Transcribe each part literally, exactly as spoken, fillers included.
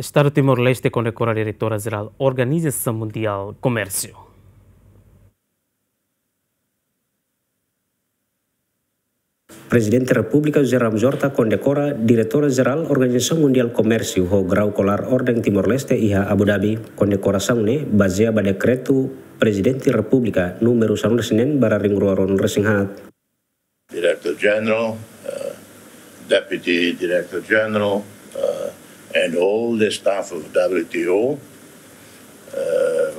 Estadu Timor-Leste kondekora Diretora Jerál Organizasaun Mundiál Komérsiu. Prezidente Repúblika José Ramos Horta kondekora Diretora Jerál Organizasaun Mundiál Komérsiu ho grau kolar Orden Timor-Leste iha Abu Dhabi. Kondekorasaun ne'e bazeia ba dekretu Prezidente Repúblika númeru sanulu-resin-neen barra rimrua ruanulu-resin-haat. Director General, uh, Deputy Director General, uh, and all the staff of W T O, uh,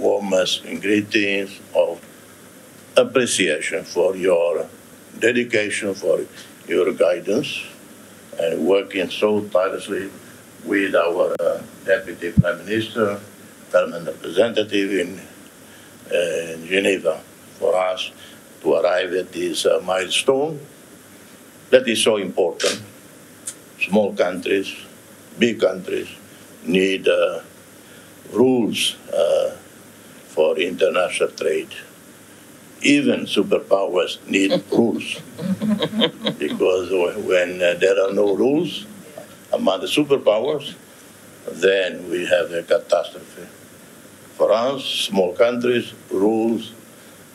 warmest greetings of appreciation for your dedication, for your guidance, and working so tirelessly with our, uh, Deputy Prime Minister, Government Representative in, uh, Geneva for us to arrive at this, uh, milestone that is so important. Small countries, big countries need, uh, rules, uh, for international trade. Even superpowers need rules. Because when, uh, there are no rules among the superpowers, then we have a catastrophe. For us, small countries, rules,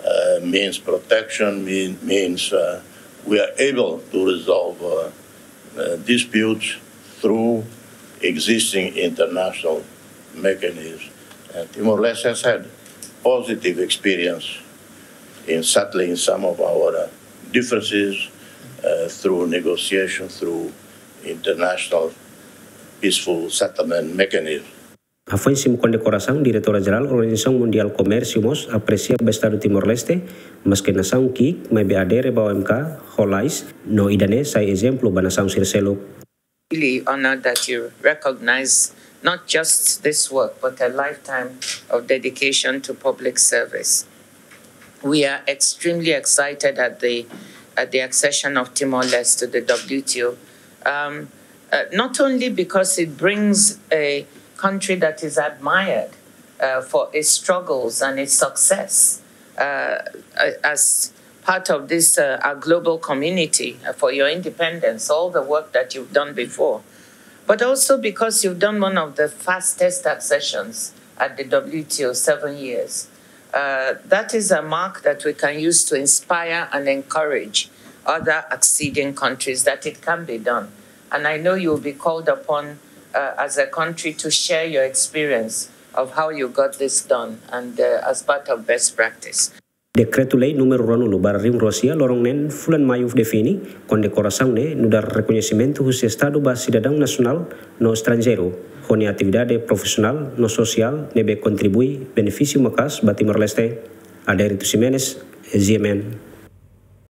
uh, means protection, mean, means, uh, we are able to resolve, uh, uh, disputes through existing international mechanisms. And Timor-Leste has had positive experience in settling some of our, uh, differences, uh, through negotiation, through international peaceful settlement mechanism. Hafoin simu kondekorasaun, Diretora Jerál Organizasaun Mundiál Komérsiu mós apresia ba Estadu Timor-Leste, maske nasaun ki'ik, maibé adere ba O M K ho lalais, no ida-ne'e sai ezemplu ba nasaun sira seluk. Really honored that you recognize not just this work, but a lifetime of dedication to public service. We are extremely excited at the, at the accession of Timor-Leste to the W T O, um, uh, not only because it brings a country that is admired, uh, for its struggles and its success, uh, uh, as part of this, uh, our global community, uh, for your independence, all the work that you've done before, but also because you've done one of the fastest accessions at the W T O, seven years. Uh, that is a mark that we can use to inspire and encourage other acceding countries that it can be done. And I know you will be called upon, uh, as a country to share your experience of how you got this done and, uh, as part of best practice. Dekretu-Lei númeru ruanulu barra rimrua sia, loron neen fulan Maiu, define kondekorasaun ne'e nu'udar rekoñesimentu husi Estadu ba sidadaun nasionál no estranjeiru, ho nia atividade profisionál no sosiál ne'ebé kontribui benefísiu maka'as ba Timor-Leste. Adérito Ximenes, G M N.